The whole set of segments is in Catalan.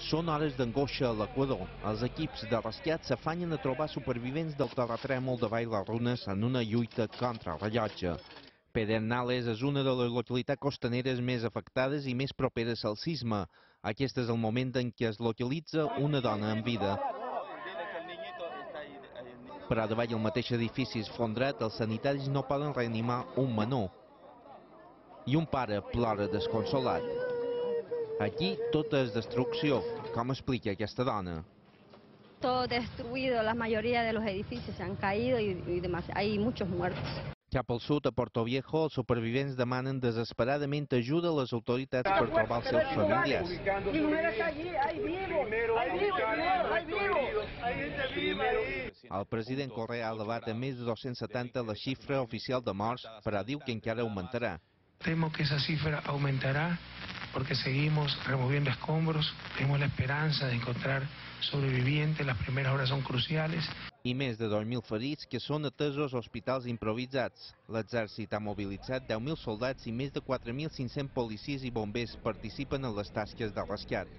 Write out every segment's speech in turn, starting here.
Són hores d'angoixa a l'Equador. Els equips de rescat s'afanyen a trobar supervivents del terratrèmol de Vall les Runes en una lluita contra el rellotge. Pedernales és una de les localitats costaneres més afectades i més properes al sisme. Aquest és el moment en què es localitza una dona en vida. Però davall el mateix edifici esfondrat, els sanitaris no poden reanimar un menor. I un pare plora desconsolat. Aquí tot és destrucció. Com explica aquesta dona? Todo destruido, la mayoría de los edificios se han caído y hay muchos muertos. Cap al sud, a Puerto Viejo, els supervivents demanen desesperadament ajuda a les autoritats per trobar els seus familiars. El president Correa ha elevat a més de 270 la xifra oficial de morts, però diu que encara augmentarà. Temo que esa cifra aumentará porque seguimos removiendo escombros, tenemos la esperanza de encontrar sobrevivientes, las primeras horas son cruciales. I més de 2.000 ferits que són atesos a hospitals improvisats. L'exèrcit ha mobilitzat 10.000 soldats i més de 4.500 policies i bombers participen en les tasques de rescat.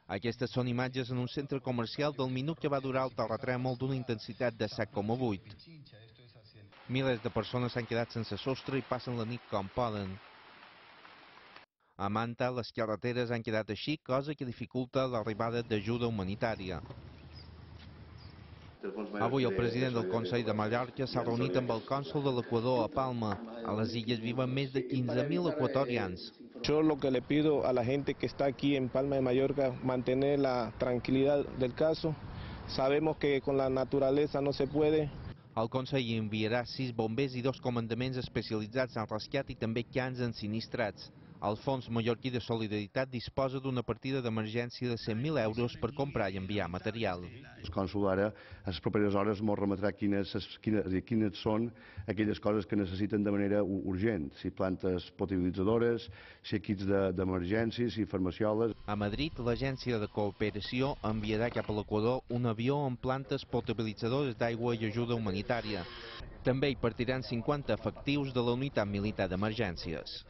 Aquestes són imatges en un centre comercial del minut que va durar el terratrèmol d'una intensitat de 7,8. Milers de persones s'han quedat sense sostre i passen la nit com poden. A Manta, les carreteres han quedat així, cosa que dificulta l'arribada d'ajuda humanitària. Avui el president del Consell de Mallorca s'ha reunit amb el cònsol de l'Equador a Palma. A les illes viven més de 15.000 equatorians. Yo lo que le pido a la gente que está aquí en Palma de Mallorca, mantener la tranquilidad del caso. Sabemos que con la naturaleza no se puede. El Consell enviarà 6 bombers i 2 comandaments especialitzats en rescat i també cans ensinistrats. El Fons Mallorquí de Solidaritat disposa d'una partida d'emergència de 100.000 euros per comprar i enviar material. El cònsol ara, a les properes hores, ens remetrà quines són aquelles coses que necessiten de manera urgent, si plantes potabilitzadores, si equips d'emergències, si farmacioles. A Madrid, l'Agència de Cooperació enviarà cap a l'Equador un avió amb plantes potabilitzadores d'aigua i ajuda humanitària. També hi partiran 50 efectius de la unitat militar d'emergències.